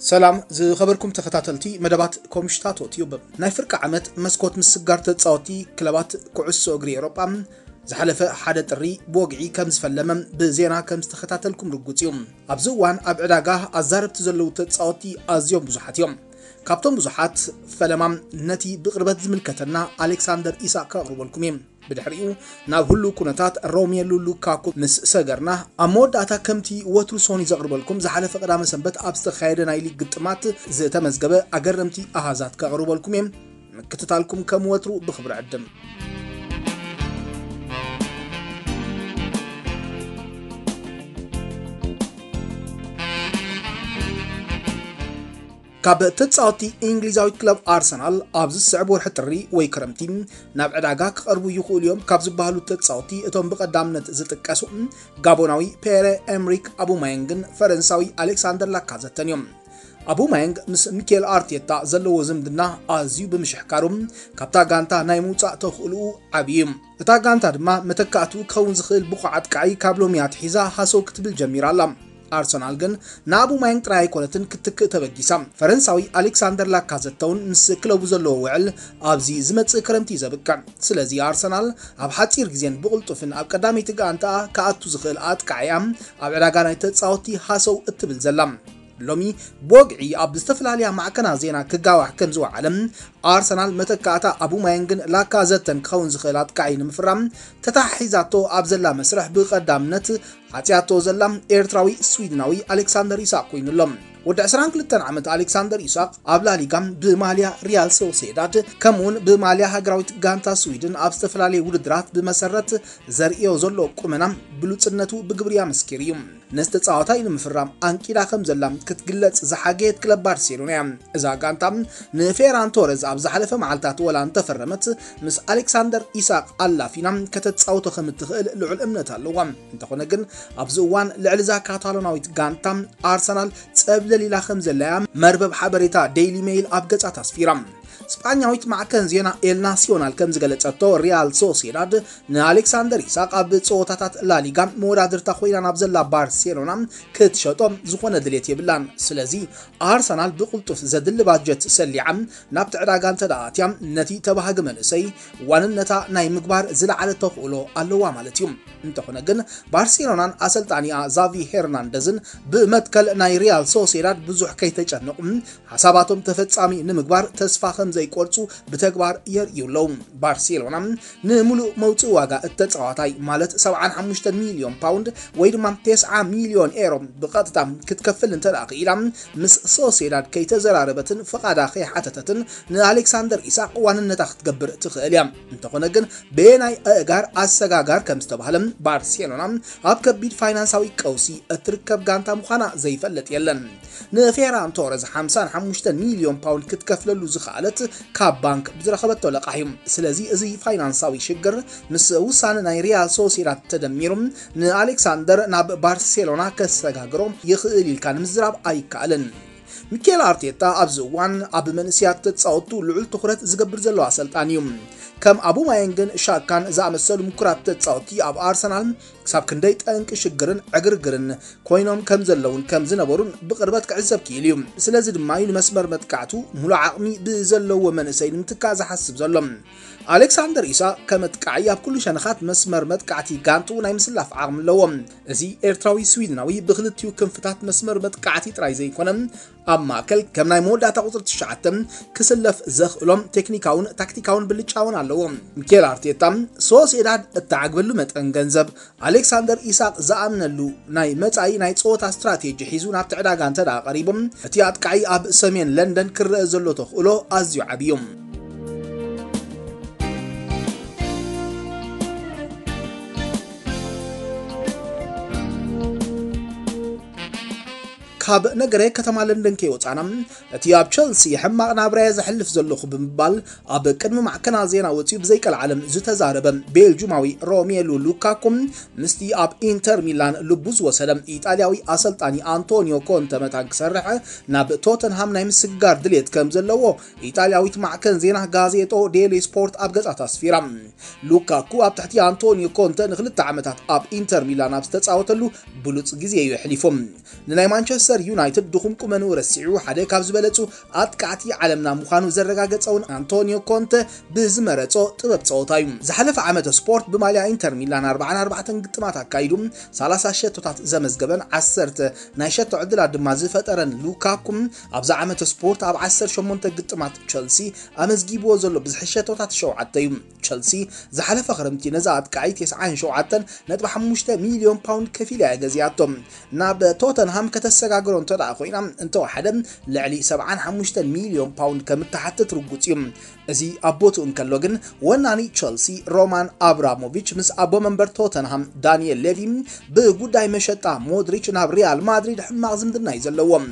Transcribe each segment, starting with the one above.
ሰላም ዝኸበርኩም ተኸታተልቲ መደባት ኮምሽታቶ ቲዩብ። ናይ ፍርቂ ዓመት መስኮት ምስጋር ተጻወቲ ክለባት ኩዕሶ እግሪ ኤውሮጳ ዝሓለፈ ሓደ ጥሪ ብወግዒ ከም ዝፈለመ ብዜና ከም ዝተኸታተልኩም ርጉጽ እዩ። ኣብዚ እዋን ኣብ ዕዳጋ ኣዛረብቲ ዘለዉ ተጻወቲ ኣዝዮም ብዙሓት እዮም። ካብቶም ብዙሓት ፈለማ ነቲ ብቕርበት ዝምልከተና ኣሌክሳንደር ኢሳቅ ከቕርበልኩም እየ። ብድሕሪኡ ናብ ህሉው ኩነታት ሮሜሉ ሉካኩ ምስ ሰገርና፣ ኣብ መወዳእታ ከምቲ ወትሩ ሶኒ ዘቕርበልኩም ዝሓለፈ ቀዳመ ሰንበት ኣብ ዝተኻየደ ናይ ሊግ ግጥማት ዝተመዝገበ ኣገረምቲ ኣሃዛት ከቕርበልኩም እየ። ምክትታልኩም ከም ወትሩ ብኽብሪ ዕድም። ካብ ተጻወቲ እንግሊዛዊት ክለብ ኣርሰናል ኣብዚ ዝስዕብ ወርሒ ጥሪ ወይ ክረምቲ ናብ ዕዳጋ ክቐርቡ ይኽእሉ እዮም ካብ ዝበሃሉ ተጻወቲ እቶም ብቐዳምነት ዝጥቀሱ ጋቦናዊ ፔረ ኤምሪክ ኣቡማየንግን ፈረንሳዊ ኣሌክሳንደር ላካዘተን እዮም። ኣቡማየንግ ምስ ሚኬል ኣርቴታ ዘለዎ ዝምድና ኣዝዩ ብምሽሕካሩ ካብታ ጋንታ ናይ ምውጻእ ተኽእልኡ ዓብዩ እዩ። እታ ጋንታ ድማ መተካእቱ ክኸውን ዝኽእል ብቑዕ ኣጥቃዒ ካብ ሎሚ ኣትሒዛ ሃሰው ክትብል ጀሚራ ኣላ። ኣርሰናል ግን ንኣቡማየንግ ጥራይ ኣይኮነትን ክትክእ ተበጊሳ። ፈረንሳዊ ኣሌክሳንደር ላካዘተ እውን ምስ ክለቡ ዘለዎ ውዕል ኣብዚ ዝመጽእ ክረምቲ እዩ ዘብቅዕ። ስለዚ ኣርሰናል ኣብ ሓጺር ግዜን ብቕልጡፍን ኣብ ቀዳመይቲ ጋንታኣ ክኣቱ ዝኽእል ኣጥቃዒያ ኣብ ዕዳጋ ናይ ተጻወቲ ሃሰው እትብል ዘላ። ሎሚ ብወግዒ ኣብ ዝተፈላለያ ማዕከናት ዜና ክጋዋሕ ከም ዝወዓለ፣ ኣርሰናል መተካእታ ኣቡማየንግን ላካዘተን ክኸውን ዝኽእል ኣጥቃዒ ንምፍራም ተታሒዛቶ ኣብ ዘላ መስርሕ ብቐዳምነት ሓጽያቶ ዘላ ኤርትራዊ ስዊድናዊ ኣሌክሳንደር ኢሳቅ ኮይኑ ኣሎ። ወዲ ዕስራን ክልተን ዓመት ኣሌክሳንደር ኢሳቅ ኣብ ላሊጋ ብማልያ ሪያል ሶሴዳድ ከምኡውን ብማልያ ሃገራዊት ጋንታ ስዊድን ኣብ ዝተፈላለዩ ውድድራት ብመሰረት ዘርእዮ ዘሎ ቁመና ብሉጽነቱ ብግብሪ ኣመስኪሩ እዩ። ነዚ ተጻዋታይ ንምፍራም ኣንቂዳ ከም ዘላ ክትግለጽ ዝሓገየት ክለብ ባርሴሎና እያ። እዛ ጋንታ ንፌራን ቶረዝ ኣብ ዝሓለፈ መዓልታት ወላ እንተፈረመት፣ ምስ ኣሌክሳንደር ኢሳቅ ኣላፊና ከተጻውቶ ከም እትኽእል ልዑል እምነት ኣለዋ። እንተኾነ ግን ኣብዚ እዋን ልዕሊ እዛ ካታሎናዊት ጋንታ ኣርሰናል ጸብለል ኢላ ከም ዘላ እያ መርበብ ሓበሬታ ዴይሊ ሜይል ኣብ ገጻት ኣስፊራ። ስጳኛዊት ማዕከን ዜና ኤል ናሲዮናል ከም ዝገለጸቶ፣ ሪያል ሶሴዳድ ንኣሌክሳንደር ኢሳቅ ኣብ ጸወታታት ላሊጋ መወዳድርታ ኮይና ናብ ዘላ ባርሴሎና ክትሸጦ ዝኾነ ድሌት የብላን። ስለዚ ኣርሰናል ብቕልጡፍ ዘድሊ ባጀት ሰሊዓ ናብቲ ዕዳጋ እንተ ደኣ ኣትያ፣ ነቲ ተባሃጊ መንእሰይ ዋንነታ ናይ ምግባር ዝለዓለ ተኽእሎ ኣለዋ ማለት እዩ። እንተኾነ ግን ባርሴሎናን ኣሰልጣኒኣ ዛቪ ሄርናንደዝን ብመትከል ናይ ሪያል ሶሴዳድ ብዙሕ ከይተጨነቑ ሓሳባቶም ተፈጻሚ ንምግባር ተስፋ ከም ዘይቆርጹ ብተግባር የርእዩ ኣለዉ። ባርሴሎና ንምሉእ መውጽኢ ዋጋ እተጻዋታይ ማለት ሰብዓን ሓሙሽተን ሚልዮን ፓውንድ ወይ ድማ ተስዓ ሚልዮን ኤሮ ብቐጥታ ክትከፍል እንተ ደኣ ክኢላ፣ ምስ ሶሴዳድ ከይተዘራረበትን ፍቓዳ ከይሓተተትን ንኣሌክሳንደር ኢሳቅ ዋንነታ ክትገብር ትኽእል እያ። እንተኾነ ግን በየናይ ኣእጋር ኣሰጋጋር ከም ዝተባህለ ባርሴሎና ኣብ ከቢድ ፋይናንሳዊ ቀውሲ እትርከብ ጋንታ ምዃና ዘይፈልጥ የለን። ንፌራን ቶረዝ ሓምሳን ሓሙሽተን ሚልዮን ፓውንድ ክትከፍለሉ ዝኸኣለት ካብ ባንክ ብዝረኸበቶ ለቃሕ እዩ። ስለዚ እዚ ፋይናንሳዊ ሽግር ምስ ውሳነ ናይ ሪያል ሶሴዳድ ተደሚሩ ንኣሌክሳንደር ናብ ባርሴሎና ከሰጋግሮ ይኽእል ኢልካ ንምዝራብ ኣይከኣልን። ሚኬል ኣርቴታ ኣብዚ እዋን ኣብ መንእሰያት ተጻወቱ ልዑል ትኹረት ዝገብር ዘሎ ኣሰልጣኒ እዩ። ከም ኣቡማየንግን ሻካን ዝኣመሰሉ ምኩራት ተጻወቲ ኣብ ኣርሰናል ክሳብ ክንደይ ጠንቂ ሽግርን ዕግርግርን ኮይኖም ከም ዘለውን ከም ዝነበሩን ብቕርበት ክዕዘብ ክኢሉ እዩ። ስለዚ ድማ እዩ ንመስመር መጥቃዕቱ ሙሉእ ዓቕሚ ብዘለዎ መንእሰይ ንምትካእ ዝሓስብ ዘሎ። ኣሌክሳንደር ኢሳቅ ከም ኣጥቃዒ ኣብ ኩሉ ሸነኻት መስመር መጥቃዕቲ ጋንትኡ ናይ ምስላፍ ዓቕሚ ኣለዎ። እዚ ኤርትራዊ ስዊድናዊ ብክልቲኡ ክንፍታት መስመር መጥቃዕቲ ጥራይ ዘይኮነ፣ ኣብ ማእከል ከም ናይ መወዳእታ ቁጽሪ ትሽዓተ ክስለፍ ዘኽእሎም ቴክኒካውን ታክቲካውን ብልጫ እውን ኣለዎ። ሚኬል ኣርቴታ ሶሴዳድ እተዓግበሉ መጠን ገንዘብ ኣሌክሳንደር ኢሳቅ ዝኣምነሉ ናይ መጻኢ ናይ ጸወታ ስትራቴጂ ሒዙ ናብቲ ዕዳጋ እንተ ደኣ ቀሪቡ፣ እቲ ኣጥቃዒ ኣብ ሰሜን ለንደን ክረአ ዘሎ ተኽእሎ ኣዝዩ ዓቢ እዩ። ካብ ነገረ ከተማ ለንደን ከይወጻና፣ እቲ ኣብ ቸልሲ ሕማቕ ናብራየ ዘሕልፍ ዘለኹ ብምባል ኣብ ቅድሚ ማዕከናት ዜና ወጺኡ ብዘይቀልዓለም ዝተዛረበ ቤልጁማዊ ሮሜሉ ሉካኩ፣ ምስቲ ኣብ ኢንተር ሚላን ልቡ ዝወሰደ ኢጣልያዊ ኣሰልጣኒ ኣንቶኒዮ ኮንተ መታን ክሰርሕ ናብ ቶተንሃም ናይ ምስግጋር ድሌት ከም ዘለዎ ኢጣልያዊት ማዕከን ዜና ጋዜጦ ዴሊ ስፖርት ኣብ ገጻት ኣስፊራ። ሉካኩ ኣብ ትሕቲ ኣንቶኒዮ ኮንተ ንክልተ ዓመታት ኣብ ኢንተር ሚላን ኣብ ዝተጻወተሉ ብሉጽ ግዜ እዩ ኣሕሊፉ። ንናይ ማንቸስተር ዩናይትድ ድኹም ቁመንኡ ረሲዑ ሓደ ካብ ዝበለጹ ኣጥቃዕቲ ዓለምና ምዃኑ ዘረጋገጸውን ኣንቶኒዮ ኮንተ ብዝመረጾ ጥበብ ጸወታ እዩ። ዝሓለፈ ዓመተ ስፖርት ብማልያ ኢንተር ሚላን ኣርባዓን ኣርባዕተን ግጥማት ኣካይዱ ሰላሳ ሸቶታት ዘመዝገበን ዓሰርተ ናይ ሸቶ ዕድላት ድማ ዝፈጠረን ሉካኩ፣ ኣብዚ ዓመተ ስፖርት ኣብ ዓሰርተ ሸሞንተ ግጥማት ቸልሲ ኣመዝጊብዎ ዘሎ ብዝሒ ሸቶታት ሸውዓተ እዩ። ቸልሲ ዝሓለፈ ክረምቲ ነዛ ኣጥቃዒ ተስዓን ሸውዓተን ነጥቢ ሓሙሽተ ሚልዮን ፓውንድ ከፊላ እያ ገዚኣቶ። ናብ ቶተንሃም ከተሰጋግሮ እንተ ደኣ ኮይና፣ እንተወሓደ ልዕሊ ሰብዓን ሓሙሽተን ሚልዮን ፓውንድ ከም እትሓትት ርጉጽ እዩ። እዚ ኣብ ቦትኡ እንከሎ ግን፣ ወናኒ ቸልሲ ሮማን ኣብራሞቪች ምስ ኣቦ መንበር ቶተንሃም ዳንኤል ሌቪ ብጉዳይ መሸጣ ሞድሪች ናብ ሪያል ማድሪድ ሕማቕ ዝምድና እዩ ዘለዎም።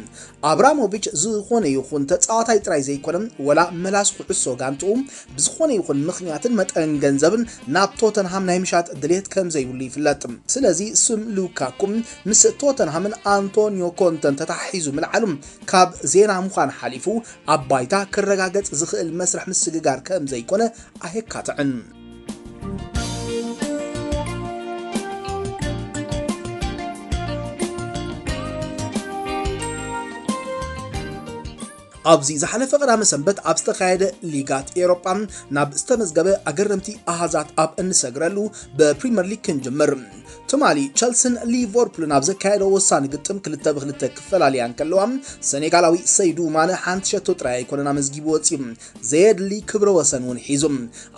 ኣብራሞቪች ዝኾነ ይኹን ተጻዋታይ ጥራይ ዘይኮነ፣ ወላ መላስ ኩዕሶ ጋንትኡ ብዝኾነ ይኹን ምኽንያትን መጠን ገንዘብን ናብ ቶተንሃም ናይ ምሻጥ ድሌት ከም ዘይብሉ ይፍለጥ። ስለዚ ስም ሉካኩ ምስ ቶተንሃምን ኣንቶኒዮ ኮንተን ተተሓሒዙ ምልዓሉ ካብ ዜና ምዃን ሓሊፉ ኣብ ባይታ ክረጋገጽ ዝኽእል መስርሕ ምስግጋር ከም ዘይኮነ ኣየካትዕን። ኣብዚ ዝሓለፈ ቀዳመ ሰንበት ኣብ ዝተኻየደ ሊጋት ኤውሮጳ ናብ ዝተመዝገበ ኣገረምቲ ኣሃዛት ኣብ እንሰግረሉ ብፕሪምየር ሊግ ክንጅምር። ትማሊ ቸልስን ሊቨርፑልን ኣብ ዘካየደዎ ወሳኒ ግጥም ክልተ ብክልተ ክፈላለያ እንከለዋ፣ ሰኔጋላዊ ሰይዱ ማነ ሓንቲ ሸቶ ጥራይ ኣይኮነን ኣመዝጊቡ ወፂኡ፣ ዘየድሊ ክብረ ወሰን እውን ሒዙ።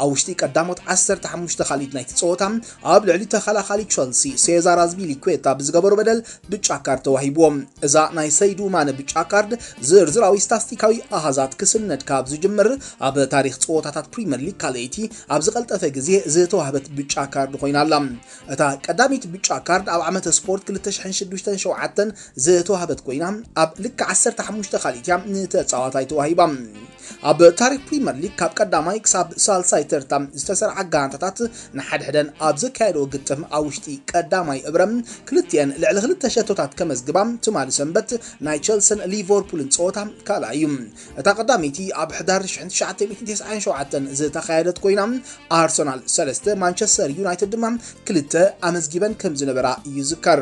ኣብ ውሽጢ ቀዳሞት ዓሰርተ ሓሙሽተ ካልኢት ናይቲ ፀወታ ኣብ ልዕሊ ተኸላኻሊ ቸልሲ ሴዛር ኣዝፒሊኩዌታ ብዝገበሮ በደል ብጫ ካርድ ተዋሂብዎ። እዛ ናይ ሰይዱ ማነ ብጫ ካርድ ዝርዝራዊ ስታስቲካዊ ኣሃዛት ክስነድ ካብ ዝጅምር ኣብ ታሪኽ ፀወታታት ፕሪምየር ሊግ ካልኣይቲ ኣብ ዝቐልጠፈ ግዜ ዝተዋህበት ብጫ ካርድ ኮይና ኣላ። እታ ቀዳሚት ብጫ ካርድ ኣብ ዓመተ ስፖርት ክልተ ሽሕን ሽዱሽተን ሸውዓተን ዝተዋህበት ኮይና፣ ኣብ ልክዕ ዓሰርተ ሓሙሽተ ካልኢት እያ ንተጻዋታይ ተዋሂባ። ኣብ ታሪኽ ፕሪምየር ሊግ ካብ ቀዳማይ ክሳብ ሳልሳይ ተርታ ዝተሰርዓ ጋንታታት ንሓድሕደን ኣብ ዘካየደኦ ግጥም ኣብ ውሽጢ ቀዳማይ እብረ ክልቲኤን ልዕሊ ክልተ ሸቶታት ከመዝግባ፣ ትማሊ ሰንበት ናይ ቸልስን ሊቨርፑልን ጸወታ ካልኣይ እዩ። እታ ቀዳመይቲ ኣብ ሕዳር ሽሕን ትሽዓተ ሚእትን ተስዓን ሸውዓተን ዝተኻየደት ኮይና፣ ኣርሰናል ሰለስተ፣ ማንቸስተር ዩናይትድ ድማ ክልተ ኣመዝጊበን ከም ዝነበራ ይዝከር።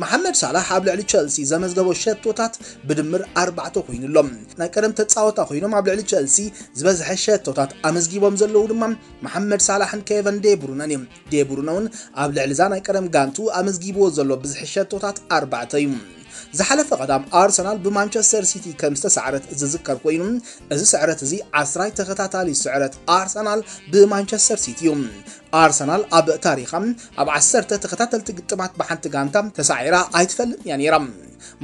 መሓመድ ሳላሕ ኣብ ልዕሊ ቸልሲ ዘመዝገቦ ሸቶታት ብድምር ኣርባዕተ ኮይኑ ኣሎ። ናይ ቀደም ተጻወታ ኮይኖም ኣብ ልዕሊ ቸልሲ ዝበዝሐ ሸቶታት ኣመዝጊቦም ዘለዉ ድማ መሓመድ ሳላሕን ኬቨን ዴብሩነን እዮም። ዴብሩነ እውን ኣብ ልዕሊ እዛ ናይ ቀደም ጋንቱ ኣመዝጊብዎ ዘሎ ብዝሒ ሸቶታት ኣርባዕተ እዩ። ዝሓለፈ ቀዳም ኣርሰናል ብማንቸስተር ሲቲ ከም ዝተሳዕረት ዝዝከር ኮይኑ፣ እዚ ስዕረት እዚ ዓስራይ ተኸታታሊ ስዕረት ኣርሰናል ብማንቸስተር ሲቲ እዩ። ኣርሰናል ኣብ ታሪኻ ኣብ ዓሰርተ ተኸታተልቲ ግጥማት ብሓንቲ ጋንታ ተሳዒራ ኣይትፈልጥን እያ ነይራ።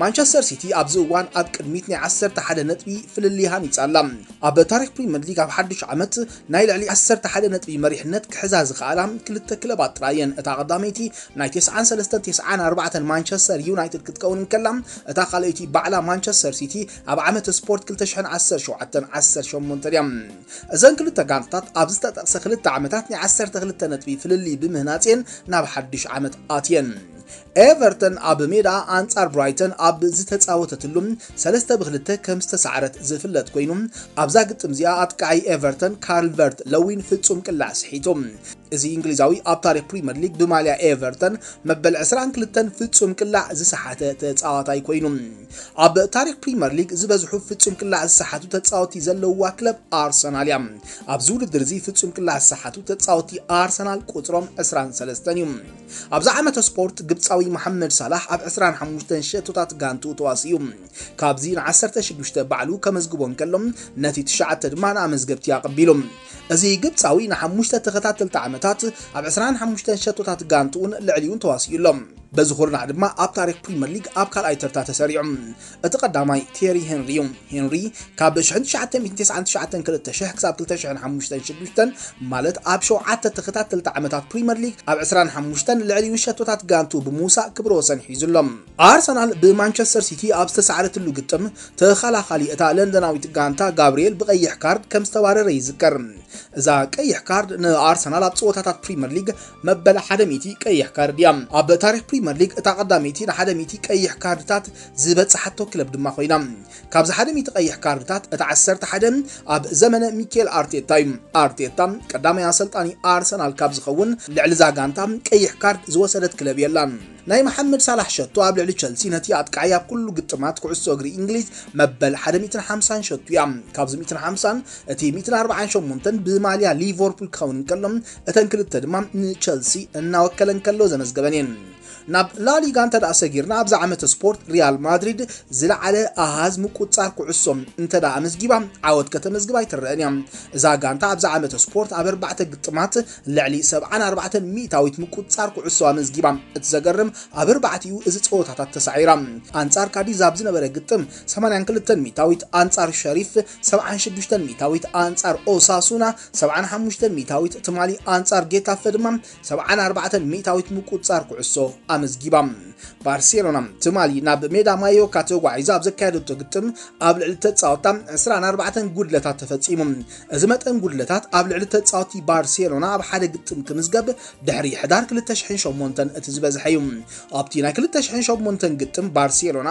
ማንቸስተር ሲቲ ኣብዚ እዋን ኣብ ቅድሚት ናይ ዓሰርተ ሓደ ነጥቢ ፍልልይ ሃኒጻ ኣላ። ኣብ ታሪኽ ፕሪምየር ሊግ ኣብ ሓድሽ ዓመት ናይ ልዕሊ ዓሰርተ ሓደ ነጥቢ መሪሕነት ክሕዛ ዝኸኣላ ክልተ ክለባት ጥራይ እየን። እታ ቀዳመይቲ ናይ ተስዓን ሰለስተን ተስዓን ኣርባዕተን ማንቸስተር ዩናይትድ ክትከውን እንከላ፣ እታ ካልኣይቲ ባዕላ ማንቸስተር ሲቲ ኣብ ዓመት ስፖርት ክልተ ሽሕን ዓሰርተ ሸውዓተን ዓሰርተ ሸሞንተን እያ። እዘን ክልተ ጋንታታት ኣብ ዝተጠቕሰ ክልተ ዓመታት ናይ ዓሰርተ ክልተ ነጥቢ ፍልልይ ብምህናጽ እየን ናብ ሓድሽ ዓመት ኣትየን። ኤቨርተን ኣብ ሜዳ ኣንጻር ብራይተን ኣብ ዝተጻወተትሉ ሰለስተ ብክልተ ከም ዝተሳዕረት ዝፍለጥ ኮይኑ፣ ኣብዛ ግጥም እዚኣ ኣጥቃዓይ ኤቨርተን ካልቨርት ለዊን ፍጹም ቅላዕ ስሒቱ። እዚ እንግሊዛዊ ኣብ ታሪኽ ፕሪምየር ሊግ ብማልያ ኤቨርተን መበል ዕስራን ክልተን ፍጹም ቅላዕ ዝሰሓተ ተጻዋታይ ኮይኑ፣ ኣብ ታሪኽ ፕሪምየር ሊግ ዝበዝሑ ፍጹም ቅላዕ ዝሰሓቱ ተጻወቲ ዘለውዋ ክለብ ኣርሰናል እያ። ኣብዚ ውድድር እዚ ፍጹም ቅላዕ ዝሰሓቱ ተጻወቲ ኣርሰናል ቁጽሮም ዕስራን ሰለስተን እዩ። ኣብዚ ዓመተ ስፖርት ግብጻዊ መሓመድ ሳላሕ ኣብ ዕስራን ሓሙሽተን ሸቶታት ጋንቱ ተዋሲኡ። ካብዚ ንዓሰርተ ሽዱሽተ ባዕሉ ከመዝግቦ እንከሎ፣ ነቲ ትሽዓተ ድማ ንኣመዝገብቲ ኣቐቢሉ። እዚ ግብጻዊ ንሓሙሽተ ተኸታተልቲ ዓመታት ኣብ ዕስራን ሓሙሽተን ሸቶታት ጋንትኡን ልዕሊኡን ተዋሲኡ ኣሎ። በዚ ኩርናዕ ድማ ኣብ ታሪኽ ፕሪምየር ሊግ ኣብ ካልኣይ ተርታ ተሰሪዑ። እቲ ቀዳማይ ቴሪ ሄንሪ እዩ። ሄንሪ ካብ ሽሕን ትሽዓተ ሚእትን ተስዓን ትሽዓተን ክልተ ሽሕ ክሳብ ክልተ ሽሕን ሓሙሽተን ሽዱሽተን፣ ማለት ኣብ ሸውዓተ ተኸታተልቲ ዓመታት ፕሪምየር ሊግ ኣብ ዕስራን ሓሙሽተን ልዕሊኡ ሸቶታት ጋንቱ ብምውሳእ ክብረ ወሰን ሒዙ ኣሎ። ኣርሰናል ብማንቸስተር ሲቲ ኣብ ዝተሳዕረትሉ ግጥም፣ ተኸላኻሊ እታ ለንደናዊት ጋንታ ጋብርኤል ብቐይሕ ካርድ ከም ዝተባረረ ይዝከር። እዛ ቀይሕ ካርድ ንኣርሰናል ኣብ ጸወታታት ፕሪምየር ሊግ መበል ሓደ ሚእቲ ቀይሕ ካርድ እያ። ኣብ ታሪኽ ፕሪምየር ፕሪምየር ሊግ እታ ቀዳመይቲ ንሓደ ሚእቲ ቀይሕ ካርድታት ዝበጽሓቶ ክለብ ድማ ኮይና። ካብዚ ሓደ ሚእቲ ቀይሕ ካርድታት እታ ዓሰርተ ሓደ ኣብ ዘመነ ሚኬል ኣርቴታ እዩ። ኣርቴታ ቀዳማይ ኣሰልጣኒ ኣርሰናል ካብ ዝኸውን ልዕሊ እዛ ጋንታ ቀይሕ ካርድ ዝወሰደት ክለብ የላን። ናይ መሓመድ ሳላሕ ሸቶ ኣብ ልዕሊ ቸልሲ ነቲ ኣጥቃዓይ ኣብ ኩሉ ግጥማት ኩዕሶ እግሪ እንግሊዝ መበል ሓደ ሚእትን ሓምሳን ሸቶ እያ። ካብዚ ሚእትን ሓምሳን እቲ ሚእትን ኣርባዓን ሸሞንተን ብማልያ ሊቨርፑል ክኸውን እንከሎ፣ እተን ክልተ ድማ ንቸልሲ እናወከለ እንከሎ ዘመዝገበን እየን። ናብ ላሊጋ እንተ ደኣ ሰጊርና፣ ኣብዚ ዓመተ ስፖርት ሪያል ማድሪድ ዝለዓለ ኣሃዝ ምቁጻር ኩዕሶ እንተ ደኣ ኣመዝጊባ፣ ዓወት ከተመዝግብ ኣይትረአን እያ። እዛ ጋንታ ኣብዚ ዓመተ ስፖርት ኣብ ኣርባዕተ ግጥማት ልዕሊ ሰብዓን ኣርባዕተን ሚእታዊት ምቁጻር ኩዕሶ ኣመዝጊባ። እቲ ዘገርም፣ ኣብ ኣርባዕቲኡ እዚ ጸወታታት ተሳዒራ። ኣንጻር ካዲዝ ኣብ ዝነበረ ግጥም ሰማንያን ክልተን ሚእታዊት፣ ኣንጻር ሸሪፍ ሰብዓን ሽዱሽተን ሚእታዊት፣ ኣንጻር ኦሳሱና ሰብዓን ሓሙሽተን ሚእታዊት፣ ትማሊ ኣንጻር ጌታፈ ድማ ሰብዓን ኣርባዕተን ሚእታዊት ምቁጻር ኩዕሶ ኣመዝጊባ። ባርሴሎና ትማሊ ናብ ሜዳ ማዮካ ተጓዒዛ ኣብ ዘካየደቶ ግጥም ኣብ ልዕሊ ተጻወታ ዕስራን ኣርባዕተን ጉድለታት ተፈጺሙ። እዚ መጠን ጉድለታት ኣብ ልዕሊ ተጻወቲ ባርሴሎና ኣብ ሓደ ግጥም ክምዝገብ ድሕሪ ሕዳር ክልተ ሽሕን ሸሞንተን እቲ ዝበዝሐ እዩ። ኣብቲ ናይ ክልተ ሽሕን ሸሞንተን ግጥም ባርሴሎና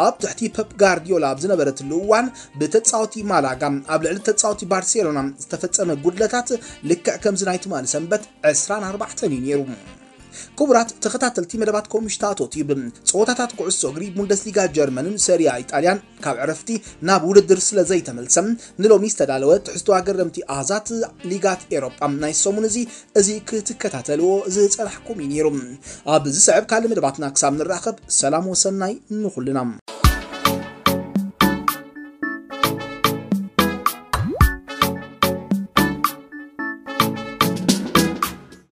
ኣብ ትሕቲ ፐፕ ጋርዲዮላ ኣብ ዝነበረትሉ እዋን ብተጻወቲ ማላጋ ኣብ ልዕሊ ተጻወቲ ባርሴሎና ዝተፈጸመ ጉድለታት ልክዕ ከምዚ ናይ ትማሊ ሰንበት ዕስራን ኣርባዕተን እዩ ነይሩ። ክቡራት ተኸታተልቲ መደባት ኮምሽታቶ ቲዩብ፣ ጸወታታት ኩዕሶ እግሪ ቡንደስሊጋ ጀርመንን ሰሪያ ኢጣልያን ካብ ዕረፍቲ ናብ ውድድር ስለ ዘይተመልሰ፣ ንሎሚ ዝተዳለወ ትሕዝቶ ኣገረምቲ ኣሃዛት ሊጋት ኤሮጳ ናይ ሰሙን እዚ፣ እዚ ክትከታተልዎ ዝጸናሕኩም እዩ ነይሩ። ኣብ ዝስዕብ ካልእ መደባትና ክሳብ ንራኸብ፣ ሰላም ወሰናይ ንኹልና።